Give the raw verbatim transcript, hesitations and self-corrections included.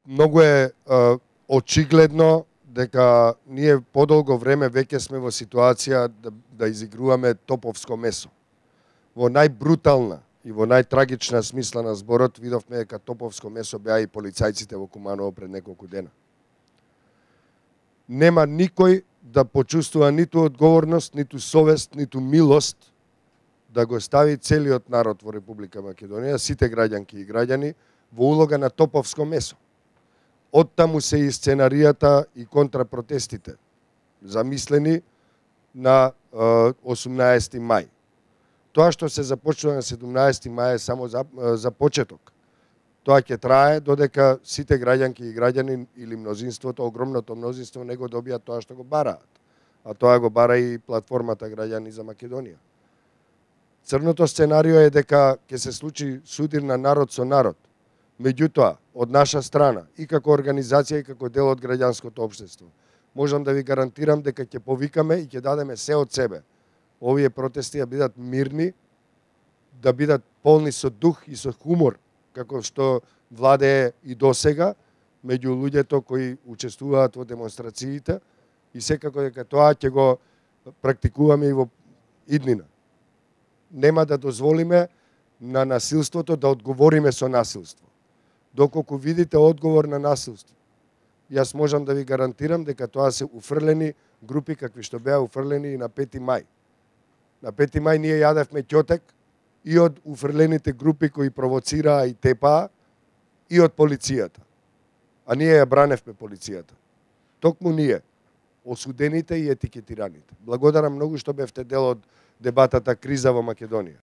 многу е а, очигледно дека ние подолго време веќе сме во ситуација да, да изигруваме топовско месо. Во најбрутална и во најтрагична смисла на зборот видовме дека топовско месо беа и полицајците во Куманово пред неколку дена. Нема никој да почувствува ниту одговорност, ниту совест, ниту милост да го стави целиот народ во Република Македонија, сите граѓанки и граѓани, во улога на топовско месо. Оттаму се и сценаријата и контрапротестите, замислени на осумнаесети мај. Тоа што се започнува на седумнаесети мај е само за, за почеток. Тоа ќе трае додека сите граѓанки и граѓани или мнозинството, огромното мнозинство не го добијат тоа што го бараат. А тоа го бара и платформата Граѓани за Македонија. Црното сценарио е дека ќе се случи судир на народ со народ. Меѓутоа, од наша страна, и како организација, и како дел од граѓанското општество, можам да ви гарантирам дека ќе повикаме и ќе дадеме се од себе. Овие протести да бидат мирни, да бидат полни со дух и со хумор, како што владее и досега меѓу луѓето кои учествуваат во демонстрациите, и секако дека тоа ќе го практикуваме и во иднина. Нема да дозволиме на насилството да одговориме со насилство. Доколку видите одговор на насилство, јас можам да ви гарантирам дека тоа се уфрлени групи какви што беа уфрлени и на пети мај. На пети мај ние јадевме ќотек и од уфрлените групи кои провоцираа и тепаа, и од полицијата. А ние ја браневме полицијата. Токму ние, осудените и етикетираните. Благодарам многу што бевте дел од дебатата криза во Македонија.